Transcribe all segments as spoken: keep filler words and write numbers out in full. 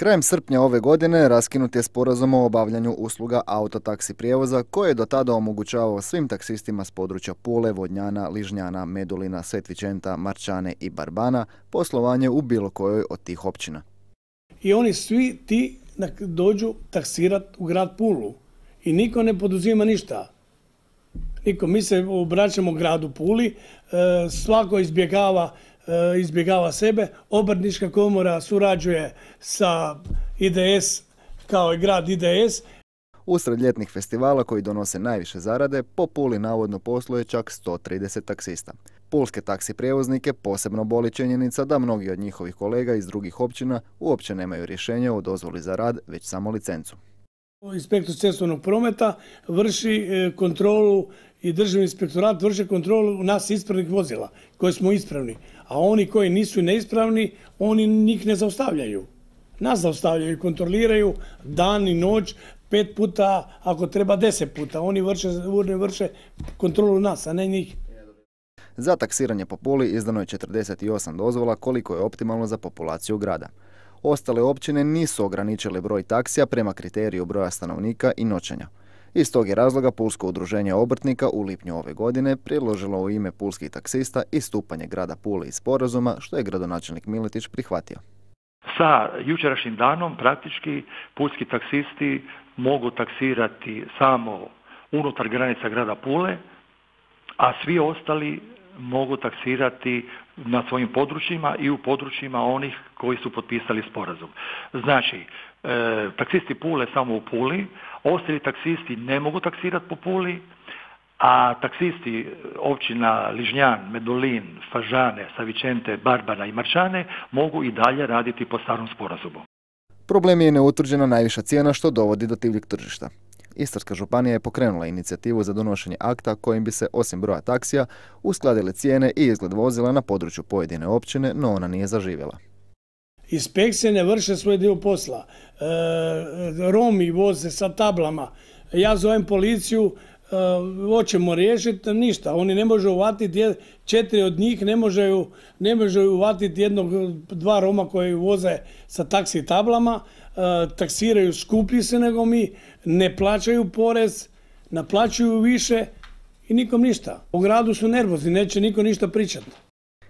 Krajem srpnja ove godine raskinut je sporazum o obavljanju usluga autotaksi prijevoza koji je do tada omogućavao svim taksistima s područja Pule, Vodnjana, Ližnjana, Medulina, Svetvičenta, Marčane i Barbana poslovanje u bilo kojoj od tih općina. I oni svi ti dođu taksirati u grad Pulu i niko ne poduzima ništa. Niko, mi se obraćamo gradu Puli, svako izbjegava izbjegava sebe. Obrtnička komora surađuje sa I D S kao i grad I D S. Usred ljetnih festivala koji donose najviše zarade, po Puli navodno posluje čak sto trideset taksista. Pulske taksi prijevoznike posebno boli činjenica da mnogi od njihovih kolega iz drugih općina uopće nemaju rješenje o dozvoli za rad, već samo licencu. Inspektor cestovnog prometa vrši kontrolu i državni inspektorat vrši kontrolu nas ispravnih vozila koji smo ispravni, a oni koji nisu neispravni, oni njih ne zaustavljaju. Nas zaustavljaju i kontroliraju dan i noć, pet puta, ako treba deset puta. Oni vrše, vrše kontrolu nas, a ne njih. Za taksiranje po Puli izdano je četrdeset osam dozvola, koliko je optimalno za populaciju grada. Ostale općine nisu ograničile broj taksija prema kriteriju broja stanovnika i noćenja. Iz tog je razloga Pulsko udruženje obrtnika u lipnju ove godine predložilo u ime pulskih taksista istupanje grada Pule iz sporazuma, što je gradonačelnik Miletić prihvatio. Sa jučerašnjim danom praktički pulski taksisti mogu taksirati samo unutar granica grada Pule, a svi ostali mogu taksirati na svojim područjima i u područjima onih koji su potpisali sporazum. Znači, e, taksisti Pule samo u Puli, ostali taksisti ne mogu taksirati po Puli, a taksisti općina Ližnjan, Medulin, Fažane, Savičente, Barbana i Marčane mogu i dalje raditi po starom sporazumu. Problem je neutvrđena najviša cijena što dovodi do divljeg tržišta. Istarska županija je pokrenula inicijativu za donošenje akta kojim bi se, osim broja taksija, uskladile cijene i izgled vozila na području pojedine općine, no ona nije zaživjela. Inspekcije ne vrše svoj dio posla. E, Romi voze sa tablama. Ja zovem policiju, e, hoćemo riješiti, ništa. Oni ne može uvatiti, četiri od njih ne može, ne može uvatiti jednog, dva Roma koji voze sa taksi tablama, e, taksiraju skuplji se nego mi, ne plaćaju porez, naplaćuju više i nikom ništa. U gradu su nervozni, neće niko ništa pričati.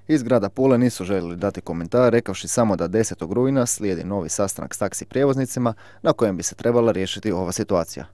Iz grada Pule nisu željeli dati komentar, rekavši samo da desetog rujna slijedi novi sastanak s taksi prijevoznicima na kojem bi se trebala riješiti ova situacija.